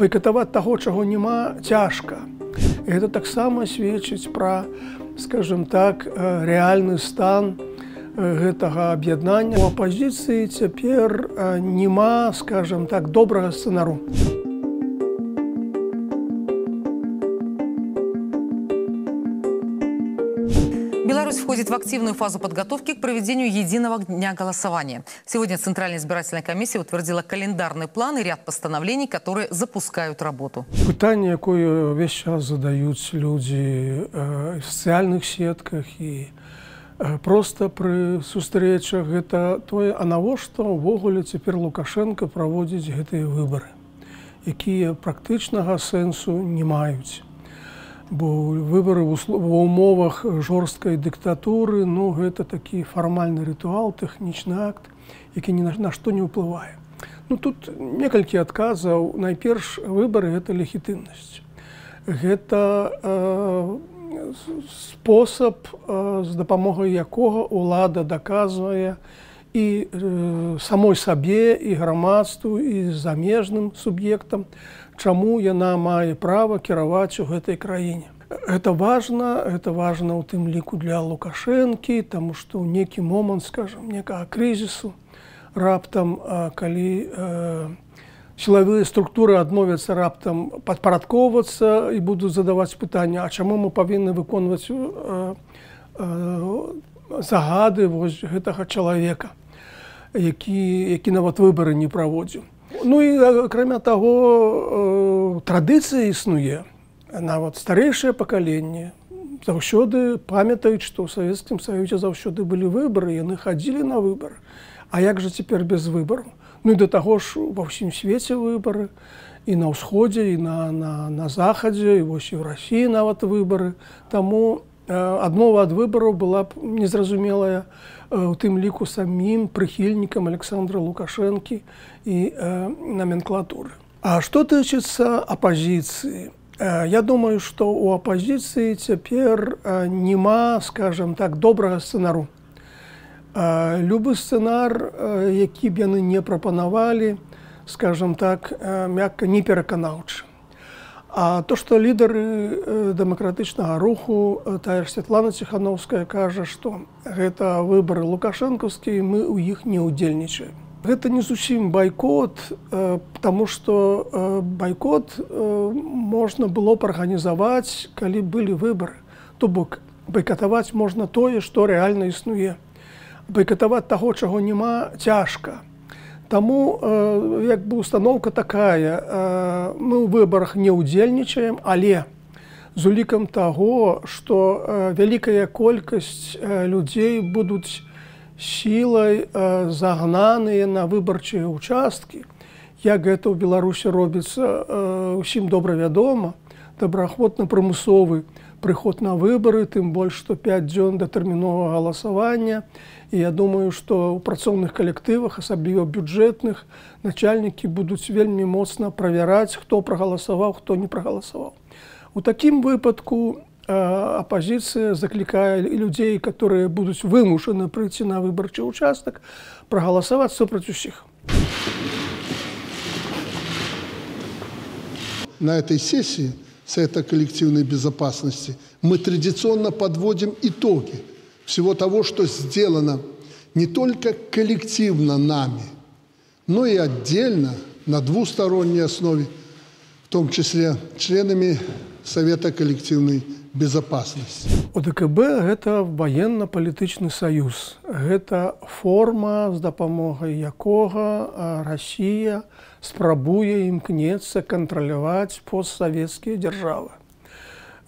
Байкатаваць таго, чаго няма, цяжка. І гэта таксама сведчыць пра, скажем так, рэальны стан гэтага аб'яднання. У апазіцыі цяпер няма, скажем так, добрага сцэнару. Беларусь входит в активную фазу подготовки к проведению единого дня голосования. Сегодня Центральная избирательная комиссия утвердила календарный план и ряд постановлений, которые запускают работу. Пытание, якое весь час задают люди в социальных сетках и просто при сустрэчах, это тое, а навошта ўвогуле цяпер Лукашенко праводзіць гэтыя выборы, якія практычнага сэнсу не маюць. Бо выборы в умовах жорсткай дыктатуры, ну, гэта такі фармальны рытуал, тэхнічны акт, які ні на што не ўплывае. Ну, тут некалькі адказаў. Найперш, выборы – гэта легітымнасць. Гэта спосаб, з дапамогай якога ўлада даказвае і самой сабе, і грамадству, і замежным суб'ектам, чаму яна мае права кіраваць у гэтай краіне. Гэта важна ў тым ліку для Лукашэнкі, таму што ў некі момант, скажам, некага крызісу, раптам, калі сілавыя структуры адмовяцца раптам падпарадкоўвацца і будуць задаваць пытанне, а чаму мы павінны выконваць загады вось гэтага чалавека, які нават выбары не праводзіў. Ну і, акрамя таго, традыцыя існуе. Нават старэйшае пакаленне заўсёды памятаюць, што ў Савецкім Саюзе заўсёды былі выбары, яны хадзілі на выбары. А як жа цяпер без выбараў? Ну і да таго ж ва ўсім свеце выбары, і на ўсходзе, і на захадзе, і вось і ў Расіі нават выбары. Таму адмова ад выбараў была б незразумелая у тым ліку самім прыхільнікам Александра Лукашэнкі і номенклатуры. А што тычыцца апазіцыі? Я думаю, што ў апазіцыі цяпер няма, скажем так, добрага сцэнару. Любы сцэнар, які б яны не прапанавалі, скажем так, мякка не пераканаўчы. А то, што лідары дэмакратычнага руху, тая ж Святлана Ціхановская кажа, што гэта выбары лукашэнкаўскія, мы ў іх не ўдзельнічаем. Гэта не зусім байкот, таму што байкот можна было б арганізаваць, калі былі выбары. То бок байкатаваць можна тое, што рэальна існуе. Байкатаваць таго, чаго няма, цяжка. Таму як бы установка такая, мы ў выбарах не ўдзельнічаем, але з улікам таго, што вялікая колькасць людзей будуць сілай загнаныя на выбарчыя ўчасткі, як гэта ў Беларусі робіцца, усім добра вядома, добраахвотна-прымусовы прыход на выбары, тым больш, што 5 дзён да тэрміновага галасавання. І я думаю, што ў працоўных калектывах, асабліва бюджэтных, начальнікі будуць вельмі моцна правяраць, хто прагаласаваў, хто не прагаласаваў. У такім выпадку апазіцыя заклікае людзей, которые будуць вымушаны прыйти на выбарчы участак, прагаласаваць супраць усіх. На этой сессии Совета коллективной безопасности мы традиционно подводим итоги всего того, что сделано не только коллективно нами, но и отдельно, на двусторонней основе, в том числе членами Совета коллективной безопасности. ОДКБ – гэта военно-палітычны саюз. Гэта форма, з дапамогай якога Расія спрабуе імкнецца кантраляваць постсавецкія дзяржавы.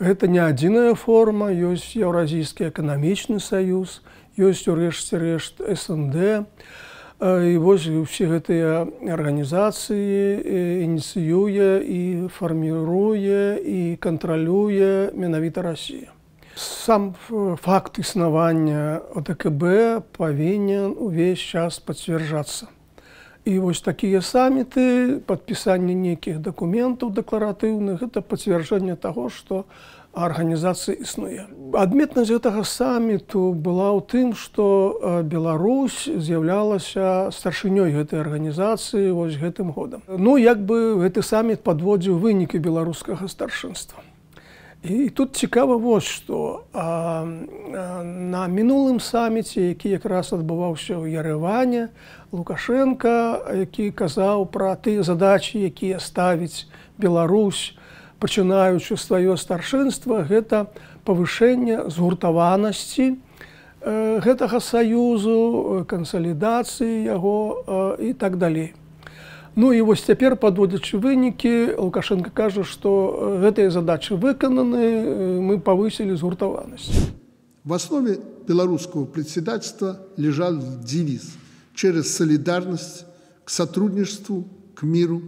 Гэта не адзіная форма, ёсць Еўразійскі эканамічны саюз, ёсць у рэшце рэшт СНД. І вось усе гэтыя арганізацыі ініцыюе і фарміруе і кантралюе менавіта Расія. Сам факт існавання ОДКБ павінен увесь час пацвярджацца. І вось такія саміты, падпісанне нейкіх дакументаў дэкларатыўных, гэта пацвярджэнне таго, што арганізацыя існуе. Адметнасць гэтага саміту была ў тым, што Беларусь з'яўлялася старшынёй гэтай арганізацыі вось гэтым годам. Ну, як бы гэты саміт падводзіў вынікі беларускага старшынства. І тут цікава вось што на мінулым саміце, які якраз адбываўся ў Ярэване, Лукашенка, які казаў пра тыя задачы, якія ставіць Беларусь, пачынаючы сваё старшынства, гэта павышэнне згуртаванасці гэтага саюзу, кансалідацыі яго і так далей. Ну і вось цяпер, падводзячы вынікі, Лукашенко кажа, што гэтыя задачы выкананы, мы павысілі згуртаванасць. В основе белорусского председательства лежал девиз «Через солидарность к сотрудничеству, к миру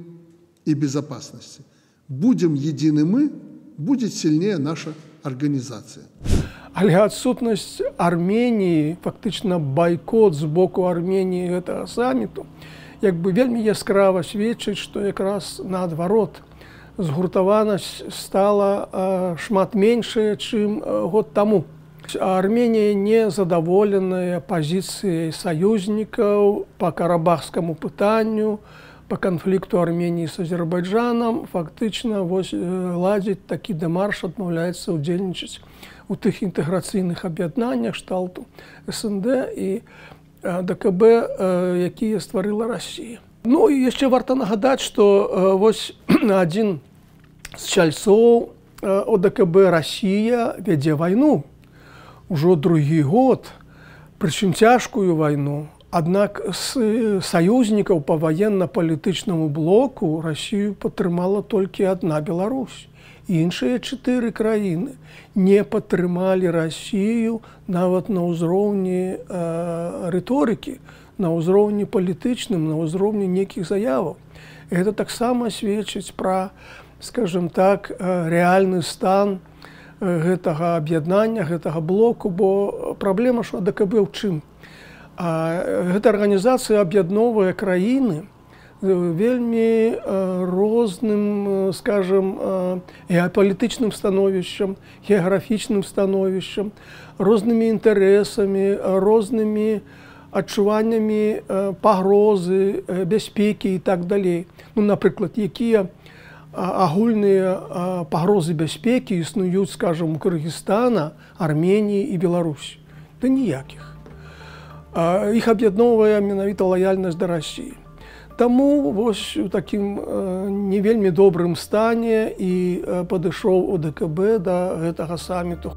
и безопасности». Будем едины мы, будет сильнее наша организация. Але адсутнасць Арменіі, фактычна байкот з боку Арменіі гэтага саміту, як бы вельмі яскрава сведчыць, што якраз наадварот згуртаванасць стала шмат меншая, чым год таму. Арменія не задаволеная пазіцыяй саюзнікаў па карабахскаму пытанню, по канфлікту Арменіі з Азербайджанам, фактычна ладзіць такі дэмарш, адмаўляецца ўдзельнічаць у тых інтэграцыйных аб'яднаннях шталту СНД і ДКБ, якія стварыла Расія. Ну і яшчэ варта нагадаць, што вось адзін з чальцоў ОДКБ Расія вядзе вайну ўжо другі год, прычым цяжкую вайну. Аднак з саюзнікаў па ваенна-палітычнаму блоку Расію падтрымала толькі адна Беларусь. Іншыя 4 краіны не падтрымалі Расію нават на ўзроўні рыторыкі, на ўзроўні палітычным, на ўзроўні нейкіх заяваў. Гэта таксама сведчыць пра, скажем так, рэальны стан гэтага аб'яднання, гэтага блоку, бо праблема ж АДКБ ў чым? Гэта арганізацыя аб'ядноўвае краіны вельмі розным, скажем, геапалітычным становішчам, геаграфічным становішчам, рознымі інтарэсамі, рознымі адчуваннямі пагрозы, бяспекі і так далей. Ну, напрыклад, якія агульныя пагрозы бяспекі існуюць, скажем, у Кыргызстана, Арменіі і Беларусі? Да ніякіх. Іх аб'ядноўвае менавіта лаяльнасць да Расіі. Таму вось у такім не вельмі добрым стане і падышоў ОДКБ да гэтага саміту.